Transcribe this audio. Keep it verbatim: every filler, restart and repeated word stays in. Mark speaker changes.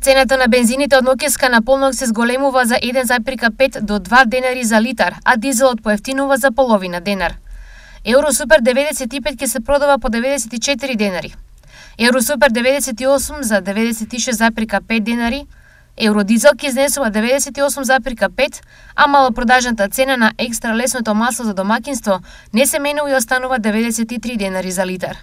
Speaker 1: Цената на бензините од ноќеска на полнок се зголемува за еден запирка пет до два денари за литар, а дизелот поевтинува за половина денар. Евросупер деветдесет и пет ќе се продава по деветдесет и четири денари. Евросупер деветдесет и осум за деветдесет и шест запирка пет денари, Евродизел ќе изнесува деветдесет и осум запирка пет, а малопродажната цена на екстра лесното масло за домаќинство не се менува и останува деветдесет и три денари за литар.